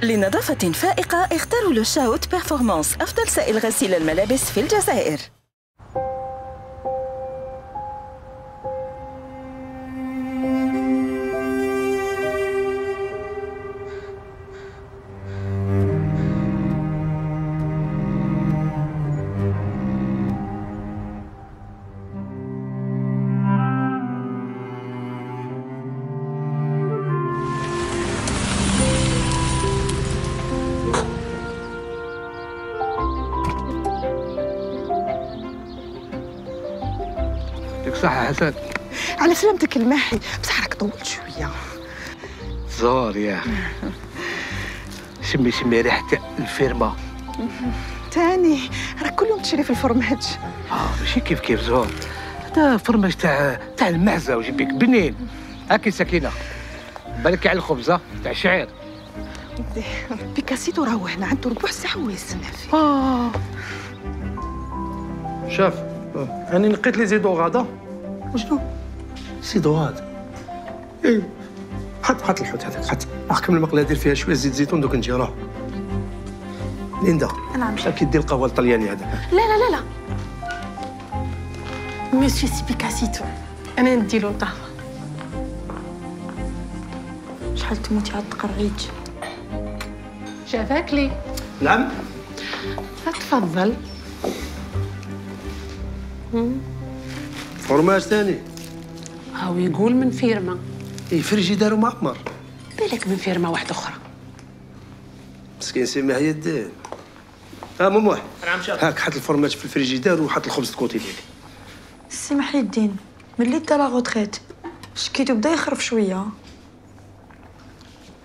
لنظافة فائقة اختاروا لو شاوت بيرفورمانس، أفضل سائل غسيل الملابس في الجزائر. صح حسن. على سلامتك الماحي، بصح راك طولت شويه. زهر يا شمي ريحه الفيرما. تاني راك كل يوم تشري في الفرماج. ماشي كيف زهر، هذا فرماج تاع المعزه وجيبك بنين. هاكي سكينه بالك على الخبزه تاع الشعير. بيكاسيتو راهو هنا عنده ربع ساعه ويستنى فيه. شاف أنا نقيت لي زيدو غادا. وشنو؟ زيدوغاد. اي حط الحوت هذاك، حط احكم المقله دير فيها شويه زيت زيتون دوك نجي راه. ليندا نعم كي دير القهوه الطلياني هذا. لا مسيو سي بيكاسيتو، انا نديرو القهوه. شحال تموتي على التقرعيج. شافاك لي. نعم تفضل. فرماج ثاني. هاو يقول من فيرما. اي فريجيدار معمر. بالك من فيرما واحده اخرى. مسكين سي محي الدين. مموح. نعم شاف. هاك حط الفرماج في الفريجيدار وحط الخبز الكوتي ديالي. سي محي الدين ملي دا لا غوتريت شكيتو بدا يخرف شويه.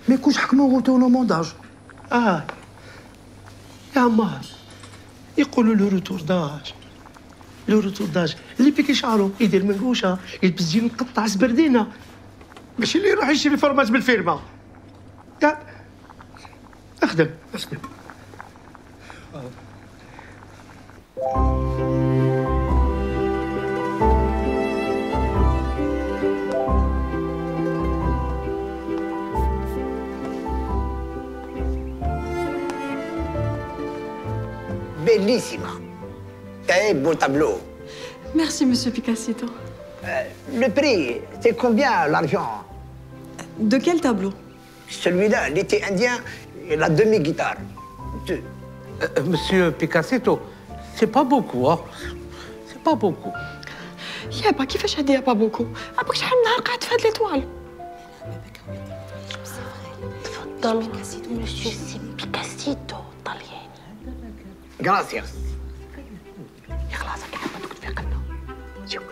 ما يكونش حكموا اوتونومونداج. يا عمار يقولوا له روتور داج. لو روتور داج اللي بيكي شعرو يدير منقوشه، يلبس جين مقطع سبردينه، ماشي اللي يروح يشري فرماج بالفيرما. اخدم. Bellissima. Très beau tableau. Merci, monsieur Picassito. Le prix, c'est combien l'argent? De quel tableau? Celui-là, l'été indien et la demi-guitare. Monsieur Picassito, c'est pas beaucoup, hein? C'est pas beaucoup. يابا كيفاش هادي يابا بوكو؟ عباك شحال من نهار قاعد في هاد ليطوال. تفضل. مسيو سي بيكاسيتو طلياني. Gracias. يا خلاص راك حابه تكون في قلبه. شوف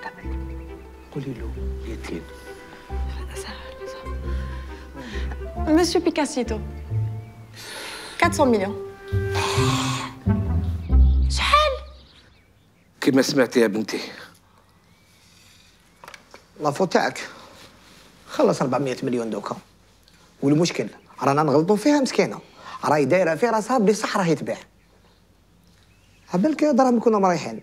قولي له يتين. Monsieur Picassito. 400 millions. شحال؟ كما سمعتي يا بنتي. لافو تاعك خلص 400 مليون دوكا، والمشكل رانا نغلطوا فيها مسكينه، راهي دايره في راسها بلي صح راهي تبيع. عبالك دراهم كنا مريحين،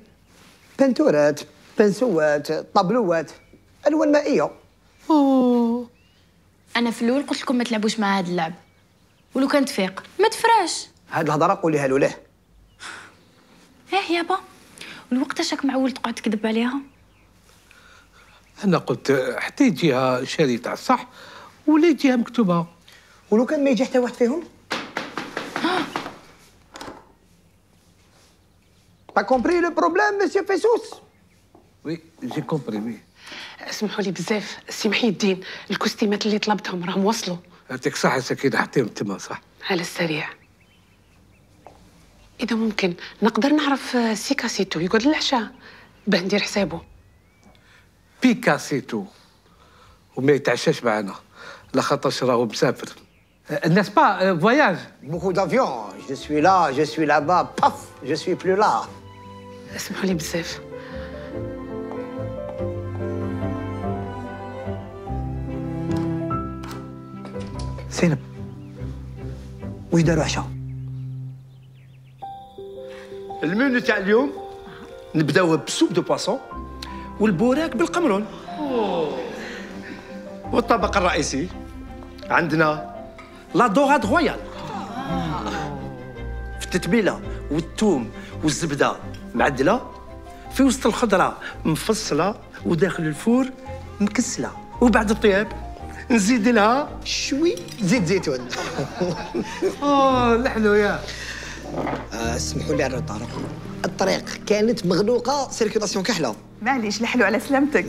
بنتورات، بنسوات، طابلوات، الوان مائيه. انا في الاول قلت لكم ما تلعبوش مع هذا اللعب، ولو كان تفيق ما تفراش. هاد الهضره قوليها له ليه. يابا والوقتاش راك معول تقعد تكذب عليها؟ انا قلت حتى يجيها شريط على الصح ولا يجيها مكتوبه. ولو كان ما يجي حتى واحد فيهم؟ T'as compris le problème, monsieur Fessous? وي جي كومبري وي. اسمحوا لي بزاف سي محي الدين، الكوستيمات اللي طلبتهم راهم وصلوا. يعطيك صحة سكينة، حطيهم تما صح. على السريع. إذا ممكن نقدر نعرف سي كاسيتو يقعد العشاء باه ندير حسابه. بيكاسيتو وما يتعشاش معنا لخاطرش راهو مسافر. n'est-ce pas voyage? Beaucoup d'avions. Je suis là, je suis là-bas. Paf, je suis plus là. اسمحوا لي بزاف. زينب واش داروا عشاء؟ المنيو تاع اليوم نبداو بسوب دو بواسون والبوراك بالقمرون. والطبق الرئيسي عندنا لا دوغاد رويال في التتبيله والثوم والزبده معدله في وسط الخضره مفصله وداخل الفور مكسله، وبعد الطياب نزيد لها شوي زيت زيتون. نحلو يا اسمحوا لي على الروطار، الطريق كانت مغلوقه، سيركيلاسيون كحله. معليش لحلو على سلامتك.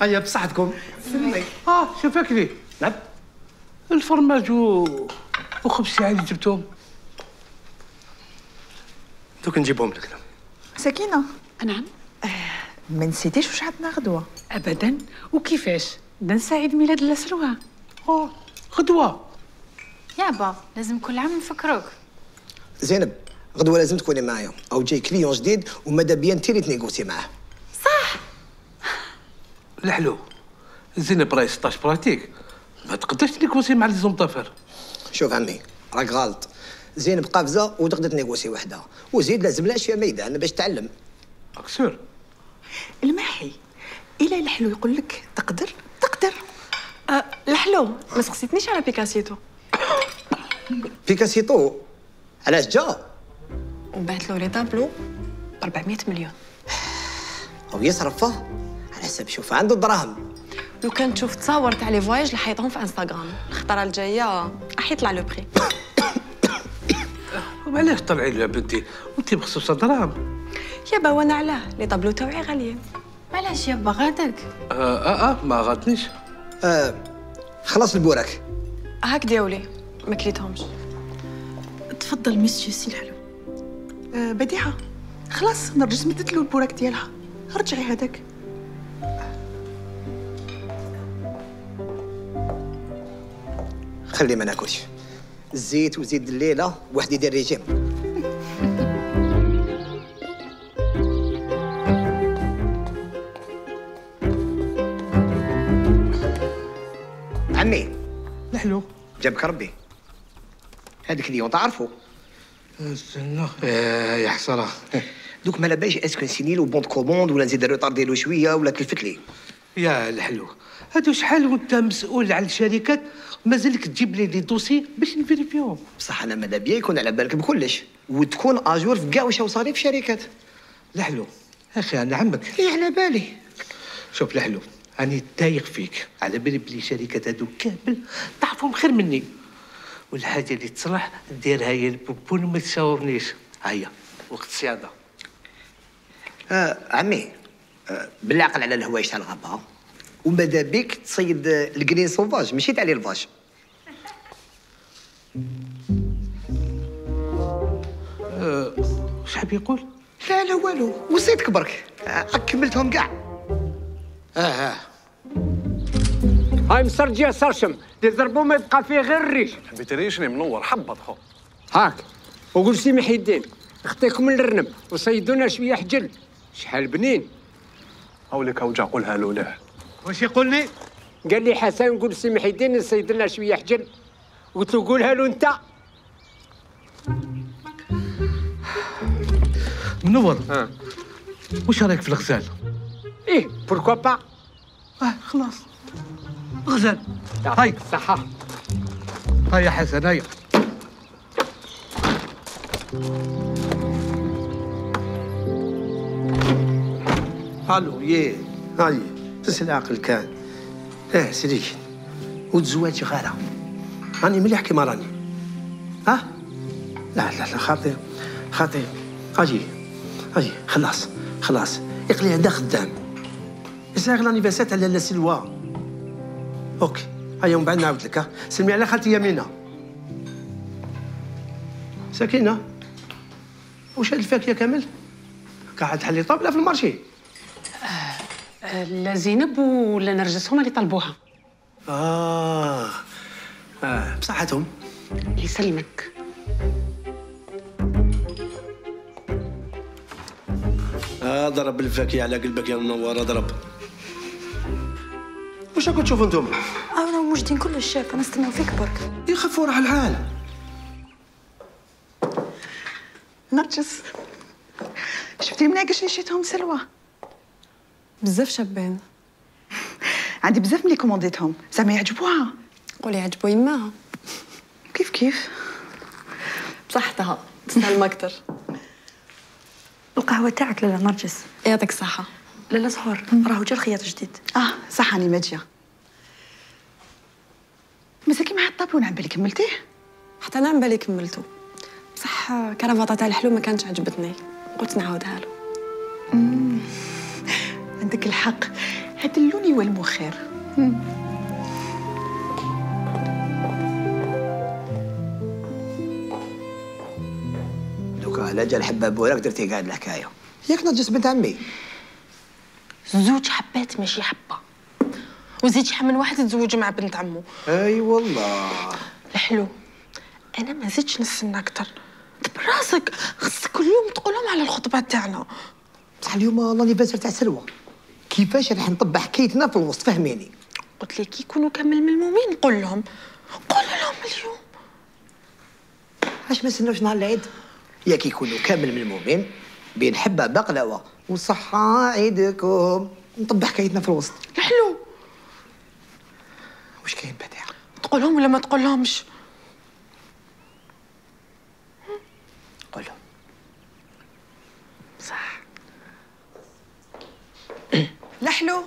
هيا بصحتكم. شوفك لي. نعم. الفرماج وخبز شعري جبتهم. دوك نجيبهم لك. سكينة. نعم. ما نسيتيش واش عندنا غدوة؟ أبدا. وكيفاش؟ ننسى عيد ميلاد لسروها. غدوة. يابا لازم كل عام نفكروك. زينب غدوه لازم تكوني معايا، او جاي كليون جديد وماذا بيا انت اللي تنيغوسي معاه. صح. الحلو زينب راهي 16 براتيك، ما تقدرش تنيغوسي مع لي زومطافر. شوف عمي راك غلط، زينب قافزه وتقدر تنيغوسي وحدها، وزيد لازم لها شويه ميدان باش تعلم. اكسور الماحي إلا الحلو يقول لك تقدر. الحلو ما سقسيتنيش على بيكاسيتو. بيكاسيتو علاش جا؟ وبعت له لي طابلو ب 400 مليون. او يصرفه على حسب شوف عنده الدراهم. لو كان تشوف تصاور تاع لي فواياج اللي حيطهم في انستغرام الخطره الجايه راح يطلع لو بري. وعلاش طلعي يا بنتي وانت بخصوص دراهم؟ يابا وانا علاه لي طابلو تاوعي غاليين. علاش يابا غادك؟ ما غاتنيش. خلاص البوراك. هاك دياولي ما كليتهمش. تفضل مسيو سي الحلو. بديعه خلاص نرجس مدت له البوراك ديالها، رجعي هذاك. خلي ما ناكلش الزيت وزيد الليله واحد يدير ريجيم. عمي الحلو جابك ربي، هذيك اليوم تعرفوا. استنى يا حسره. دوك ما لاباش اسكو نسيني له بونط كوموند ولا نزيد الروطارديلو شويه ولا تلفت لي. يا الحلو هادو شحال وانت مسؤول على الشركات مازالك تجيب لي دوسي باش نفيريفيهم. بصح انا ماذا بيا يكون على بالك بكلش وتكون اجور في كاع واش صاري في الشركات. الحلو اخي انا عمك. ايه على بالي. شوف الحلو راني تايق فيك، على بالي بلي الشركات هادو كامل تعرفهم خير مني، والحاجه اللي تصلح نديرها هي البوبون وما تشاورنيش. هيا وقت الصياده. عمي بالعقل على الهوايش تاع الغابه، وماذا بيك تصيد الجرين سوفاج ماشي تاع ليلفاج. واش حاب يقول؟ لا لا والو، وصيتك برك كملتهم كاع. هاي مسرجيه سرشم اللي ضربوه ما يبقى فيه غير الريش. حبيت ريشني منور حبط خو. هاك وقول سي محي الدين اخطيكم من الرنب وصيدونا شويه حجل شحال بنين. هاوليك اوجع قولها له له. واش يقول لي؟ قال لي حسن قول سي محي الدين نصيد لنا شويه حجل، قلت له قولها له انت. منور. واش رايك في الغزال؟ ايه بوركوا با. خلاص غزال. هاي صحة. هيا حسن هيا. الو ياه هاي تسل عقل كان سيدي وتزواجي غاله راني مليح كيما راني ها لا لا لا خاطر اجي خلاص اقلي عندها خدام يساغ لانيفرسير تاع لاله سلوى اوكي هيا ومن بعد نعاود لك ها سلمي على خالتي يمينه سكينه واش هاد الفاكهه كامل قاعد تحلي طابله في المارشي لا زينب ولا نرجس هما اللي طلبوها. بصحتهم يسلمك. ضرب الفاكهه على قلبك يا منوره ضرب. واش راكم تشوفوا انتم؟ رانا موجودين كل الشاف انا نستناو فيك برك. يخفوا راح الحال. نرجس شفتي مناقش اللي شيتهم سلوى بزاف شابين. عندي بزاف ملي كومونديتهم زعما يعجبوها. قولي يعجبوا يماها. كيف بصحتها تسلم اكثر. القهوه تاعك لاله نرجس. يعطيك الصحه. لاله زهور راهو جا الخياط جديد. صح راني ما جا. مازال كيما الطابلون عم بالي كملتيه؟ حتى انا عم بالي كملته بصح كرافطه تاع الحلو ما كانتش عجبتني قلت نعاودها له. عندك الحق هاد اللون يولمو خير. دوكا على جال حباب وراك درتي قاعد الحكايه ياك نرجس بنت عمي. زوج حبات ماشي حبه وزيد شحال من واحد يتزوج مع بنت عمو. اي والله الحلو انا ما زدتش نستنى اكثر. براسك خصك كل يوم تقولهم على الخطبه تاعنا. بصح اليوم لانيفرسير تاع سلوى كيفاش راح نطبع حكايتنا في الوسط فهميني. قلت لك يكونوا كامل ملمومين نقول لهم اليوم. علاش ما نستناوش نهار العيد ياك يكونوا كامل ملمومين بين حبه بقلاوه وصحه عيدكم نطبع حكايتنا في الوسط. الحلو واش كاين بعدا تقولهم ولا ما تقولهمش؟ قولهم صح. الحلو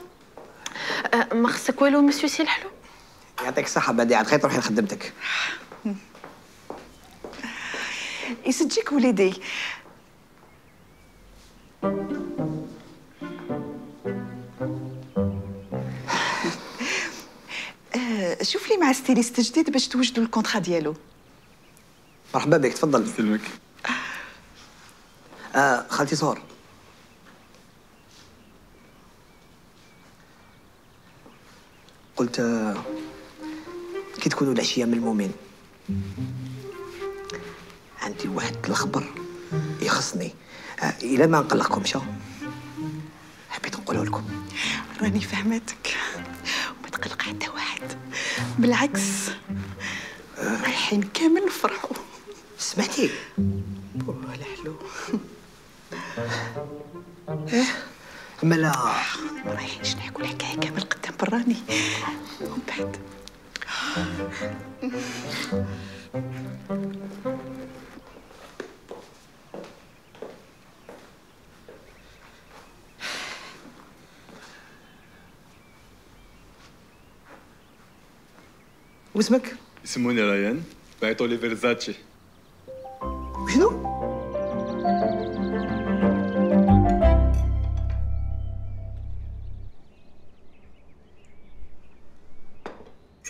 ما خصك والو مسيو سي الحلو. يعطيك الصحه بديعه خير تروحي لخدمتك. يسجيك وليدي. شوف لي مع ستيليست جديد باش توجدوا الكونترا ديالو. مرحبا بك تفضل. يسلمك. خالتي زهور قلت كي تكونوا العشيه ملمومين عندي واحد الخبر يخصني الا ما نقلقكمش حبيت نقوله لكم. راني فهمتك وما تقلق حتى واحد بالعكس رايحين كامل نفرحوا. سمعتي؟ الحلو ملا رايحين نحكوا الحكايه كامل قدام براني ومن بعد واسمك؟ يسموني ريان بعثوا لي فيرزاتشي. شنو؟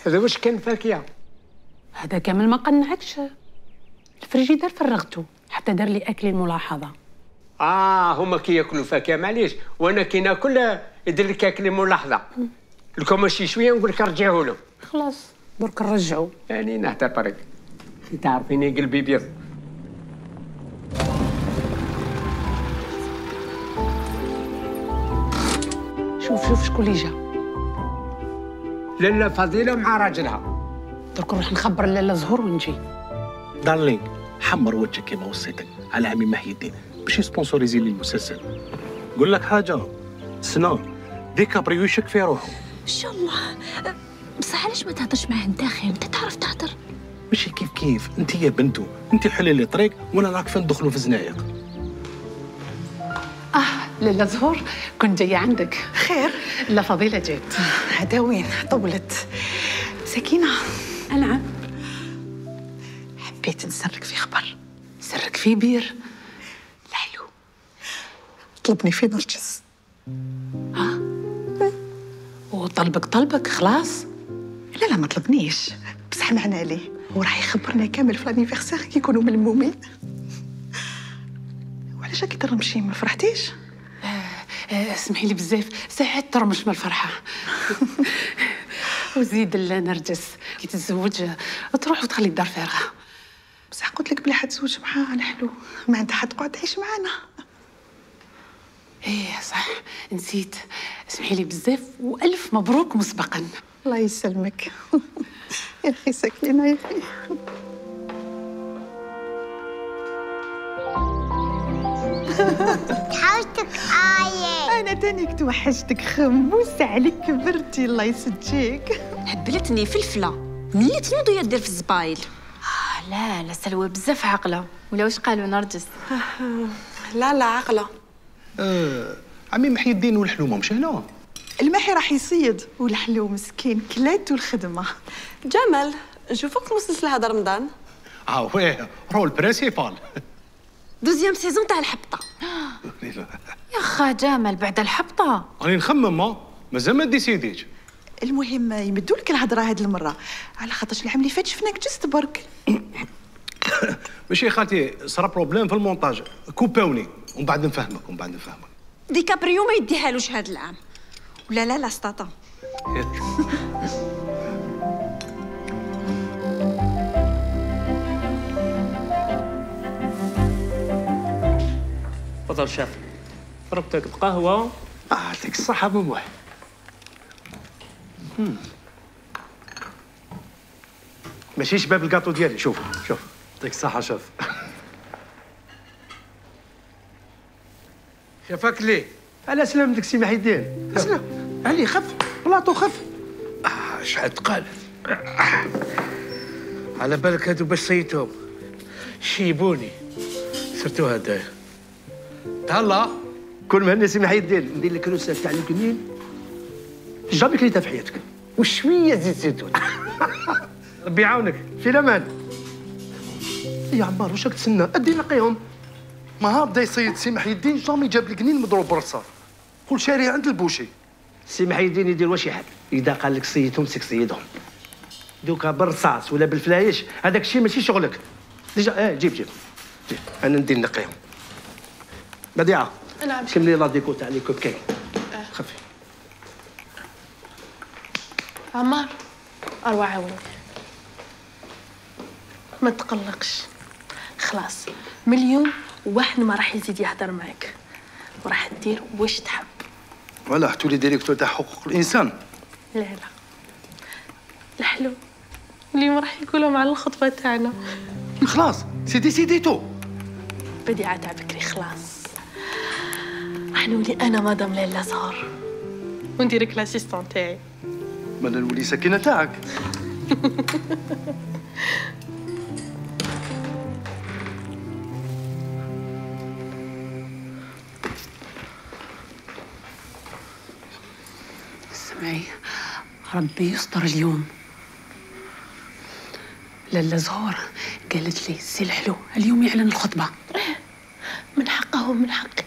هذا واش كان فاكهه؟ هذا كامل ما قنعكش. الفريجيدير فرغته حتى دار لي اكلي الملاحظه. هما كياكلوا فاكهه معليش وانا كي ناكل يدير لك اكلي ملاحظه. لكم ماشي شويه نقول لك رجعوا له. خلاص درك نرجعوا. يعني نعتبرك تعرفيني قلبي بيض. شوف شكون اللي جا. لاله فضيله مع راجلها. درك نروح نخبر لاله زهور ونجي. دارلينغ حمر وجهك كيما وصيتك على عمي محي الدين باش يسبونسوريزي لي المسلسل. نقول لك حاجه سنا ديكابريو يشك في روحه. ان شاء الله. بصح علاش ما تهضرش معاه انت اخي؟ انت تعرف تهضر. ماشي كيف انت يا بنتو انت حلي لي طريق وانا راك فين ندخلوا في زنايق. لاله زهور كنت جايه عندك. خير؟ لا فضيله جيت. هذا وين طولت. سكينه. نعم. حبيت نسرك في خبر. سرك في بير. لحلو طلبني في نرجس. وطلبك خلاص؟ لا ما طلبنيش، بصح معنا ليه وراح يخبرنا كامل في لانيفرسير كي يكونوا ملمومين. وعلاش راكي ترمشي؟ ما فرحتيش؟ اسمحي لي بزاف، ساعات ترمش من الفرحه. وزيد نرجس كي تتزوج تروح وتخلي الدار فارغه. بصح قلت لك بلي حتزوج معاها الحلو، ما عندها حد تقعد تعيش معانا. ايه صح نسيت، اسمحي لي بزاف والف مبروك مسبقا. الله يسلمك. يا اخي سكينه يا اخي. توحشتك آية. أنا تانيك توحشتك خموس عليك كبرتي الله يسجيك. هبلتني فلفلة ملي تنوض وهي دير في الزبايل. لا سلوى بزاف عاقلة، ولا واش قالوا نرجس؟ لا عاقلة. عمي محي الدين والحلومة مش هنا؟ المحي راح يصيد والحلو مسكين كلاتو الخدمة. جمال نشوفوك مسلسل هذا رمضان. ويه رول برينسيبال. دوزيام سيزون تاع الحبطة. يا خا جمال بعد الحبطة راني نخمم مازال ما ديسيديتش. المهم يمدوا لك الهضره هاد المره، على خاطرش العام اللي فات شفناك جست برك. ماشي خالتي صرا بروبليم في المونتاج، كوباوني ومن بعد نفهمك ديكابريو ما يديهالوش هاد العام. ولا لا سطاطا. تفضل شاف، ربطك بقهوة. يعطيك الصحة بموح. ماشي شباب الكاطو ديالي، شوف يعطيك الصحة شاف. شافك ليه؟ على سلامتك سي محي الدين. اسلم علي، خف بلاطو خف. شحال تقال. على بالك هادو باش صيتهم شيبوني، سرتو هدايا. تهلا كل مهني سي محي الدين، ندير لك روسه تاع الكنين جامي كليتها في حياتك، وشويه زيت زيتون. ربي يعاونك في الامان. يا عمار واش راك تسنى؟ ادي نقيهم. ما بدا يصيد سي محي الدين جامي جاب القنين مضروب بالرصاص، كل شاري عند البوشي. سي محي الدين يدير واش يحب، اذا قال لك صيدهم سيك صيدهم. دوكا بالرصاص ولا بالفلايش هذاك الشيء ماشي شغلك. ديجا جيب انا ندير نقيهم. بديعه نعم. كملي لا ديكو تاع لي كوب كاين. خفي. عمار اروح عاونك، ما تقلقش، خلاص من اليوم واحد ما راح يزيد يهدر معك، وراح دير واش تحب. ولا حتولي ديريكتور تاع حقوق الانسان. لا الحلو اليوم راح يقولوا مع الخطبه تاعنا. خلاص سيديتو. بديعه تاع بكري خلاص، راح نولي انا مدام لاله زهر ونديرك لاسيستون تاعي. مالا نولي سكينه تاعك. سمعي ربي يستر اليوم. لاله زهور قالت لي سي الحلو اليوم يعلن الخطبه. من حقه ومن حقي.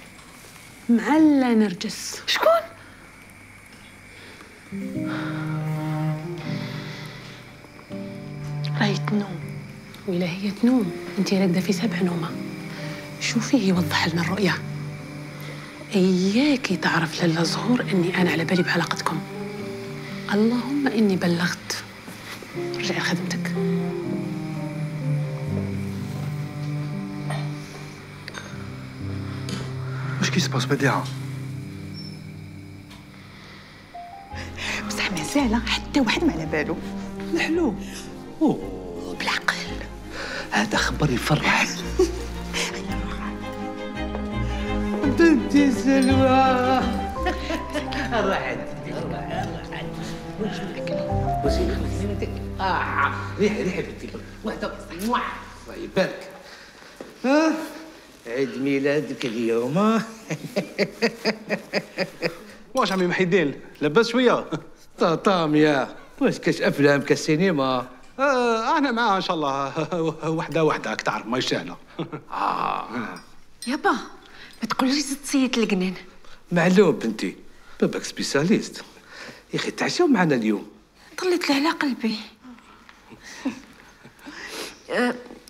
مع لا نرجس. شكون؟ راهي تنوم. ولا هي تنوم انت راقده في 7 نومه. شوفيه يوضح لنا الرؤيه. اياكي تعرف لاله زهور اني انا على بالي بعلاقتكم. اللهم اني بلغت. رجعي لخدمتك. واش كيسباس بديعه؟ بصح مازال حتى واحد ما على بالو. الحلو بالعقل. هذا خبر يفرح. بنتي سلوى. راحت وزين خلصينك. ريحه بنتي واحده. الله يبارك. عيد ميلادك اليوم. واش عمي محي الدين لاباس شويه؟ طاميه واش كاش افلام كالسينما؟ انا معاه ان شاء الله وحده راك تعرف ما سهله. يابا ما تقوليش زدت تصيد القنان. معلوم بنتي، باباك سبيساليست. يا اخي تعشاو معنا اليوم. طليت له على قلبي.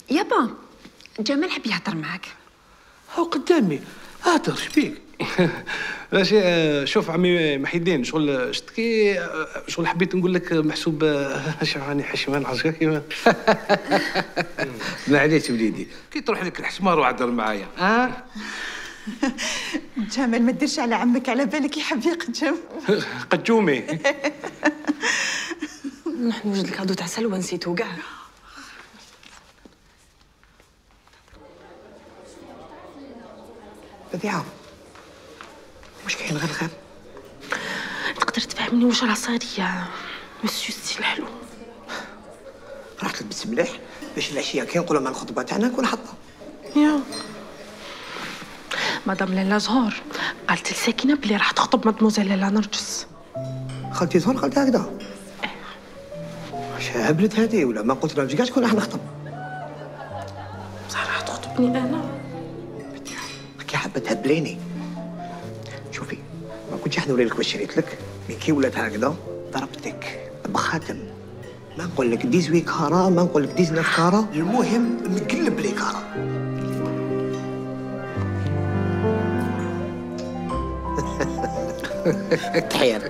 يابا جمال حب يهضر معاك. هاو قدامي، هاتر شبيك؟ ماشي شوف عمي محي الدين، شغل شتكي شغل حبيت نقول لك محسوب راني حشمان عرفتي كيما. معليش وليدي، كي تروح لك الحشمه روح عدر معايا. جمال ما ديرش على عمك، على بالك يحب يقجم. قجومي. نحن وجد الكادو تاع سلوى نسيتو كاع. بديعة واش كاين غير الخير؟ تقدر تفهمني واش راه صاير يا مسيو سي الحلو؟ راح تلبس مليح باش العشيه كي نقولوا مع الخطبه تاعنا نكون حاطه. يا مدام لاله زهور قالت لساكنه بلي راح تخطب مدموزيل لاله نرجس. خالتي زهور قالت هكذا؟ واش هبلت هذه ولا ما قلت لها كاع شكون راح نخطب؟ بصح راح تخطبني انا. كي حابه تهبليني. شوفي ما كنتش حنوري لك واش شريت لك، مي كي ولات هكذا ضربتك بخاتم. ما نقول لك 18 كارا، ما نقول لك 19 كارا، المهم نقلب لي كارا. تحير.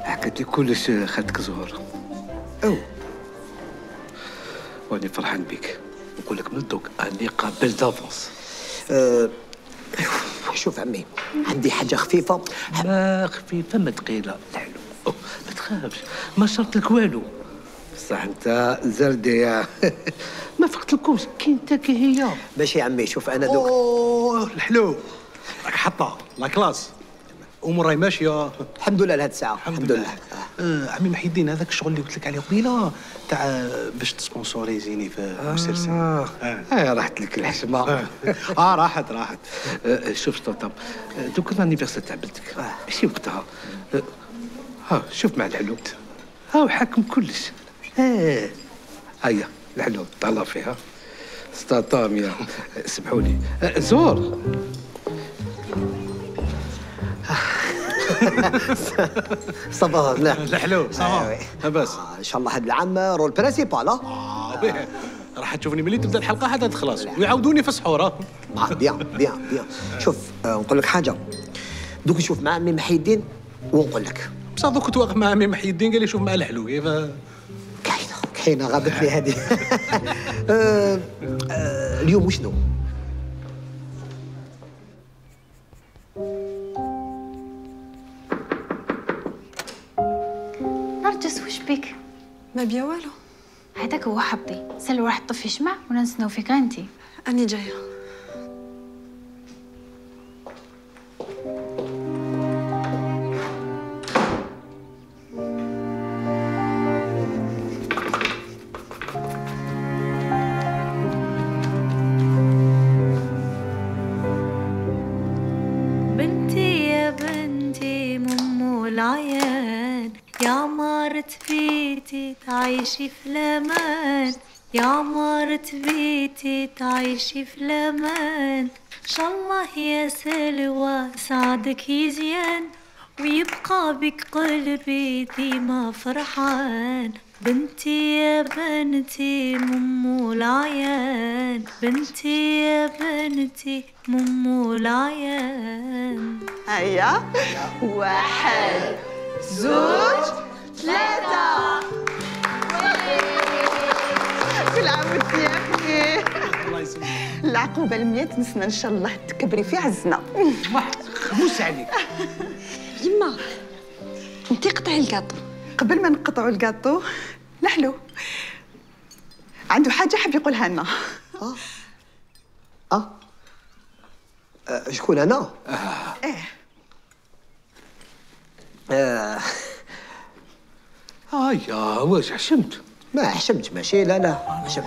حكيت لي كلش خالتك زهور. واني فرحان بك، نقول لك من دوك اني قابل دافونس. شوف عمي عندي حاجه خفيفه. ما خفيفه ما ثقيله. الحلو ما تخافش، ما شرط لك والو. بصح انت زردي ما فقت لكمش كي انت كي هي. ماشي عمي شوف انا دوك. الحلو راك حطه لا كلاس، امور راهي ماشيه الحمد لله لهاد الساعه. الحمد لله. عمي محي الدين هذاك الشغل اللي قلت لك عليه قبيله تاع باش تسبونسوريزيني في مسلسل. راحت لك الحشمه. راحت. شوف طاطا، دوك الانيفرسير تاع بنتك ماشي وقتها. شوف مع الحلو هاو حاكم كلش. هيا الحلو طلع فيها ستاطاميا. سمحوا لي زور. صافا لا الحلو صافا لاباس. ان شاء الله هاد العام رول برينسيبال. راح تشوفني ملي تبدا الحلقه حتى تخلص ويعاودوني في السحور. بيان. شوف نقول لك حاجه، دوك نشوف مع عمي محي الدين ونقول لك. بصح دوك كنت واقف مع عمي محي الدين قال لي شوف مع الحلو كيف. كاينه غابت لي هذه. اليوم وشنو؟ نرجس وش بك؟ ما بيا والو. هذاك هو حظي. سلوى راح تطفي شمع ولا نسناو فيك انتي. اني جايه. بنتي يا بنتي ممو العيان، يا عمارة بيتي تعيشي في الأمان، يا عمارة بيتي تعيشي في الأمان. إن شاء الله يا سلوى سعدك يزيان، ويبقى بك قلبي ديما فرحان. بنتي يا بنتي ممو العيان، بنتي يا بنتي ممو العيان. هيا 1 2 3. كل عام وانت يا اخي. الله يسلمك. العقوبه ال100 نسنا ان شاء الله تكبري في عزنا. خمس عليك. يما انتي قطعي الكاطو. قبل ما نقطعوا الكاطو الحلو عنده حاجه حاب يقولها لنا. شكون انا؟ هيا واش حشمت؟ ما حشمت ماشي لا حشمت.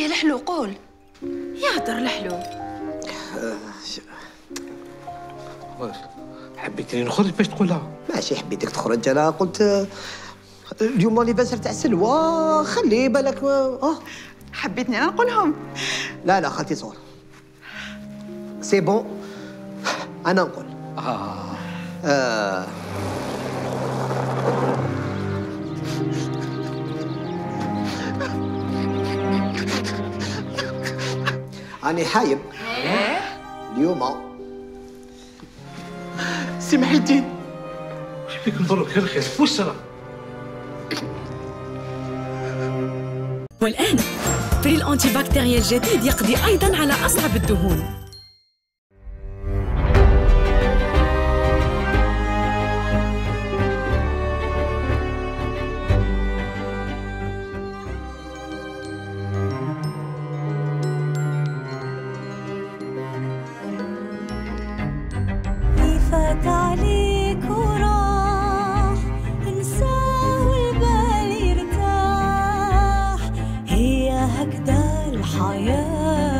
ايه لحلو قول. يهدر لحلو. حبيتني نخرج باش تقولها؟ ماشي حبيتك تخرج، انا قلت اليوم ليفانسير تاع سلوى، خلي بالك. حبيتني انا نقولهم. لا خالتي صور سي بون، انا نقول. راني حايب اليوم. سي محي الدين واش بيك نضرك غير خير واش صرا؟ والآن بريل أنتي بكتيريا الجديد يقضي أيضاً على أصعب الدهون. فات عليك وراح انساه والبال يرتاح، هي هكذا الحياة.